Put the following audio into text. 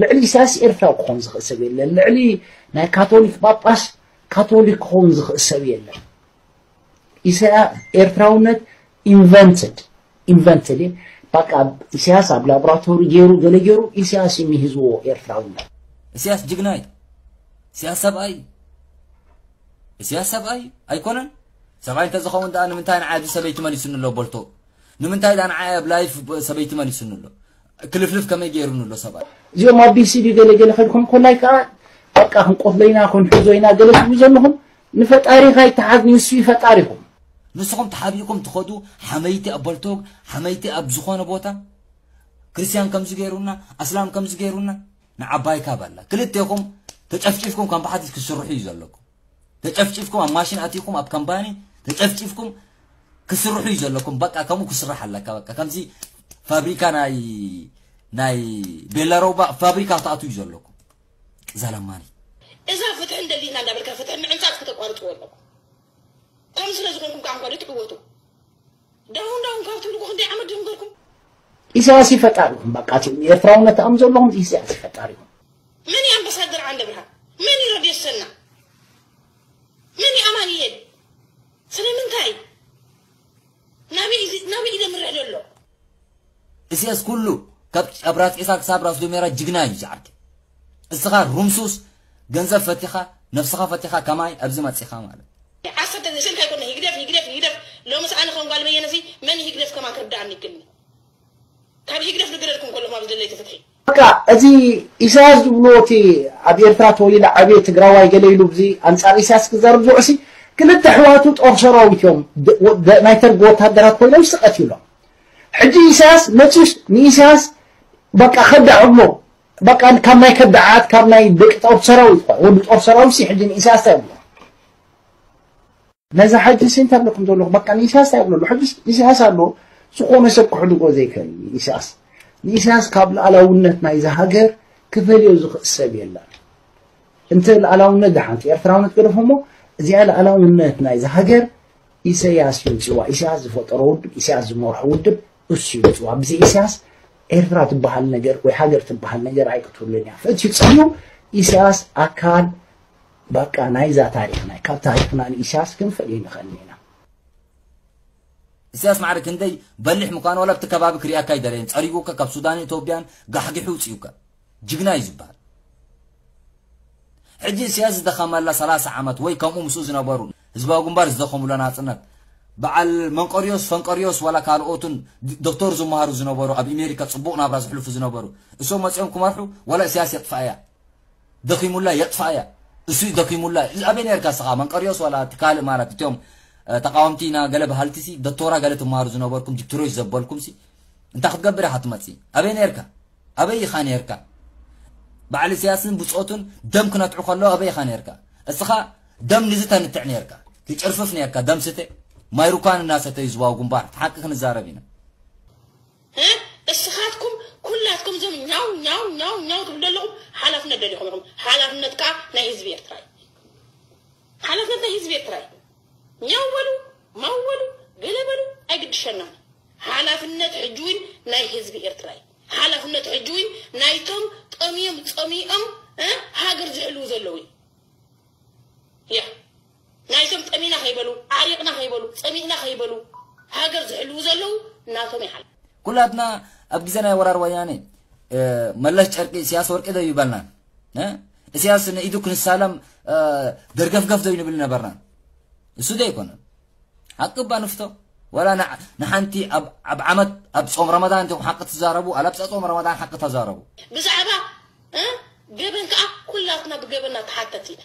ልዕሊ ኢሳያስ ኤርትራዊ ክኾን ዝኽእል ሰብ የለን። ልዕሊ ናይ ካቶሊክ ጳጳስ ካቶሊክ ክኾን ዝኽእል ሰብ የለን። ኢሳያ ኤርትራውነት ኢንቨንትድ ኢንቨንትድ በቃ ኢሳያስ ኣብ ላቦራቶሪ ገይሩ ገለ ገይሩ ኢሳያስ እዩ ሚሂዝዎ ኤርትራውነት። እስያስ ጅግና እዩ። እስያስ ሰብኣይ እዩ። እስያስ ሰብኣይ እዩ። ኣይኮነን? ሰብኣይ እንተዝኸውን ደኣ ንምንታይ ንዓይ ኣብዚ ሰበይቲ መሊሱኒ ኣሎ በልቶ? ንምንታይ ደኣ ንዓይ ኣብ ላይፍ ሰበይቲ መሊሱኒ ኣሎ? ክልፍልፍ ከመይ ገይሩኒ ኣሎ ሰብኣይ? እዚኦም ኣብ ቢሲ ድዩ ገለ ገለ ከድኩም ኮላይ ከዓ በቃ ክንቆፍሎ ኢና ክንሕዞ ኢና ገለ ትብሉ ዘለኹም። ንፈጣሪኻ ይተሓዝ ንሱ እዩ ፈጣሪኹም። ንስኹም ተሓቢእኩም ትኸዱ ሓመይቲ ኣብ በልቶግ ሓመይቲ ኣብ ዝኾነ ቦታ ክርስቲያን ከምዚ ገይሩና ኣስላም ከምዚ ገይሩና ንዓባይ ካብ ኣላ ክልቴኹም ተጨፍጭፍኩም ከም ብሓድሽ ክስርሑ እዩ ዘለኩም። ተጨፍጭፍኩም ኣብ ማሽን ኣቲኹም ኣብ ካምፓኒ ተጨፍጭፍኩም ክስርሑ እዩ ዘለኩም። በቃ ከምኡ ክስራሕ ኣለካ። በቃ ከምዚ ፋብሪካ ናይ ናይ ቤላሮባ ፋብሪካ ትኣትዉ እዩ ዘለኩም። ቅዛለማኒ እዛ ፍትሒ እንደሊና እንዳበልካ ፍትሒ ምዕንጻጽ ከተቋርጽዎ ኣለኩም። ከምዚ ስለ ዝኾንኩም ከዓ እንኳ ትዕወቱ። ዳውን ዳውን ካብ ትብልኩ ክንደይ ዓመት ድዮም ገርኩም? ኢሳያስ እዩ ፈጣሪኹም። በቃ እቲ ኤርትራውነት ኣም ዘለኹም ኢሳያስ እዩ ፈጣሪኹም። መን እዩ ኣምባሳደር ዓንደ ብርሃን? መን እዩ ረድዮ ሰና? መን እዩ ኣማንኤል? ስለምንታይ? ናበይ ናበይ እዩ ዘምርሕ ዘሎ? እስያስ ኩሉ ካብ ራስ ዒሳ ክሳብ ራስ ዱሜራ ጅግና እዩ ዝዓርኪ። እስኻ ሩምሱስ ገንዘብ ፈቲኻ ነብስኻ ፈቲኻ ከማይ ኣብዚ መጺኻ ማለት ዓሰርተ ስልካ ይኮነ ህግደፍ ህግደፍ ህግደፍ ሎምስ ኣነ ከም ጓል በየነሲ መን ህግደፍ ከማን ክርዳኣኒ ይክልኒ ካብ ህግደፍ ዝግረድኩም ከለኹም ኣብ ዝደለይቲ ፍትሒ በቃ እዚ ኢሳያስ ዝብልዎ እቲ ኣብ ኤርትራ ተወሊደ ዓብየ ትግራዋይ ገለ ኢሉ ብዚ ኣንጻር ኢሳያስ ክዛረብ ዝውዕሲ ክልተ ኣሕዋቱ ጦር ሰራዊት እዮም ናይ ተርጊ ወታደራት ኮይኖም ስቀት ይብሎም ሕጂ ኢሳያስ መጺኡስ ንኢሳያስ በቃ ከዳዕሞ በቃ ካብ ናይ ከዳዓት ካብ ናይ ደቂ ጦር ሰራዊት ወዲ ጦር ሰራዊት ሲ ሕጂ ንኢሳያስ እንታይ ይብሎ ነዛ ሕጂ ሲ እንታይ ብለኩም ዘለኹ በቃ ንኢሳያስ እንታይ ይብሎ ሕጂ ኢሳያስ ኣሎ ዝኾነ ሰብ ክሕድጎ ዘይክእል ኢሳያስ ንኢሳያስ ካብ ሉዓላውነት ናይዛ ሃገር ክፈልዮ ዝኽእል ሰብ የለን እንተ ሉዓላውነት ደሓንቲ ኤርትራውነት ገደፎሞ እዚኣ ሉዓላውነት ናይዛ ሃገር ኢሰያስ ይምፅዋ ኢሰያስ ዝፈጠሮ ውድብ ኢሰያስ ዝመርሖ ውድብ እሱ ይምፅዋ ብዘይ ኢሰያስ ኤርትራ ትበሃል ነገር ወይ ሃገር ትበሃል ነገር ኣይክትህሉን እያ ፍእት ይፅልዩ ኢሰያስ ኣካል በቃ ናይዛ ታሪክና ካብ ታሪክና ንኢሰያስ ክንፈልዮ ንኽእል ኢና ኢሰያስ ማዕረ ክንደይ በሊሕ ምዃኑ ዋላ ኣብቲ ከባቢ ክሪኣካ ኣይደለየን ጸሪጉካ ካብ ሱዳንን ኢትዮጵያን ጋሕጊሑ ውፅዩካ ጅግና እዩ ዝበሃል ሕጂ እስያስ ዝደኸመላ ሰላሳ ዓመት ወይ ከምኡ ምስኡ ዝነበሩ ህዝባዊ ግንባር ዝደኸሙላ ናጽነት በዓል መንቀርዮስ ፈንቀርዮስ ዋላ ካልኦቱን ዶክተር ዝመሃሩ ዝነበሩ ኣብ ኣሜሪካ ጽቡቕ ናብራ ዝሕልፉ ዝነበሩ እሶም መጺኦም ክመርሑ ዋላ እስያስ የጥፋእያ ደኺሙላ የጥፋእያ እሱ ደኺሙላ ኣበይ ነርካ ስኻ መንቀርዮስ ዋላ ትካል ማለት እቶም ተቃወምቲ ኢና ገለ በሃልቲ ሲ ዶክተራ ገለ ትመሃሩ ዝነበርኩም ዲክትሮች ዘበልኩም ሲ እንታይ ክትገብር ኢኻ ትመጽእ ኣበይ ነርካ ኣበይ ኢኻ ነርካ በዓል ኢሳያስን ብጾቱን ደም ክነትዑ ከለዉ ኣበይ ኢኻ ነርካ እስኻ ደም ንዝተ ንትዕ ነርካ ትጭርፍፍ ነርካ ደም ስተ ማይ ሩካን እናሰተዩ ዝባው ግንባር ሓቂ ክንዛረብ ኢና እስኻትኩም ኩላትኩም ዞም ኛው ኛው ኛው ኛው ትብሉ ዘለኹም ሓላፍነት ደሊኹም ኢኹም ሓላፍነት ከዓ ናይ ህዝቢ ኤርትራ እዩ ሓላፍነት ናይ ህዝቢ ኤርትራ እዩ ኛው በሉ ማው በሉ ገለ በሉ ኣይግድሸናን ሓላፍነት ሕጂ እውን ናይ ህዝቢ ኤርትራ እዩ ሓላፍነት ሕጂ እውን ናይቶም ጠሚዮም ጸሚኦም ሃገር ዝሕልዉ ዘለዉ እዩ ያ ናይቶም ጠሚና ከይበሉ ዓሪቕና ከይበሉ ጸሚእና ከይበሉ ሃገር ዝሕልዉ ዘለዉ ናቶም ይሓል ኩላትና ኣብ ግዜ ናይ ወራር ወያነ መለስ ጨርቂ እስያስ ወርቂ ዶ ይበልና እስያስ ንኢዱ ክንሳለም ደርገፍገፍ ዶ ይንብል ነበርና እሱ ዶ ይኮነ ሓቂ እባ ንፍቶ ወላ ንሓንቲ ኣብ ዓመት ኣብ ጾም ረመዳን እንተኹም ሓቂ ትዛረቡ ኣላ ብፃ ጾም ረመዳን ሓቂ ተዛረቡ ብዛዕባ ገበን ከዓ ኩላትና ብገበንና ተሓተት ኢና